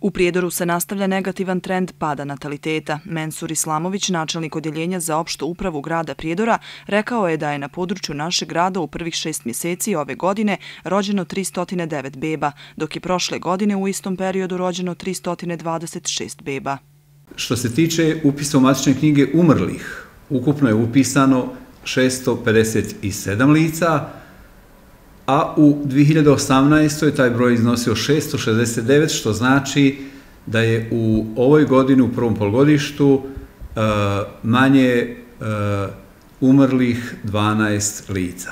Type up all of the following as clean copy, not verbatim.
U Prijedoru se nastavlja negativan trend pada nataliteta. Mensur Islamović, načelnik odjeljenja za opštu upravu grada Prijedora, rekao je da je na području našeg grada u prvih 6 mjeseci ove godine rođeno 309 beba, dok je prošle godine u istom periodu rođeno 326 beba. Što se tiče upisa u matične knjige umrlih, ukupno je upisano 657 lica, a u 2018. taj broj iznosio 669, što znači da je u ovoj godini, u prvom polugodištu, manje umrlih 12 lica.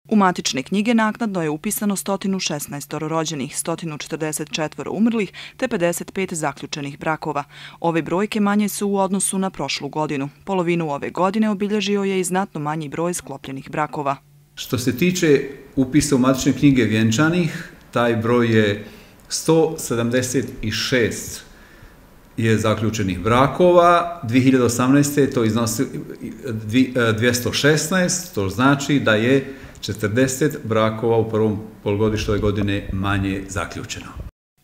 U matične knjige naknadno je upisano 116 rođenih, 144 umrlih te 55 zaključenih brakova. Ove brojke manje su u odnosu na prošlu godinu. Polovinu ove godine obilježio je i znatno manji broj sklopljenih brakova. Što se tiče upisa u matične knjige vjenčanih, taj broj je 176 je zaključenih brakova, 2018. to iznosi 216, to znači da je 40 brakova u prvom polugodištu ove godine manje zaključeno.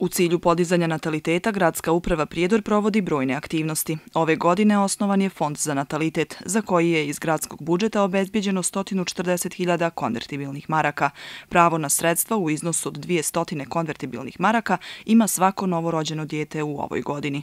U cilju podizanja nataliteta, Gradska uprava Prijedor provodi brojne aktivnosti. Ove godine osnovan je Fond za natalitet, za koji je iz gradskog budžeta obezbijeđeno 140.000 konvertibilnih maraka. Pravo na sredstva u iznosu od 200 konvertibilnih maraka ima svako novorođeno dijete u ovoj godini.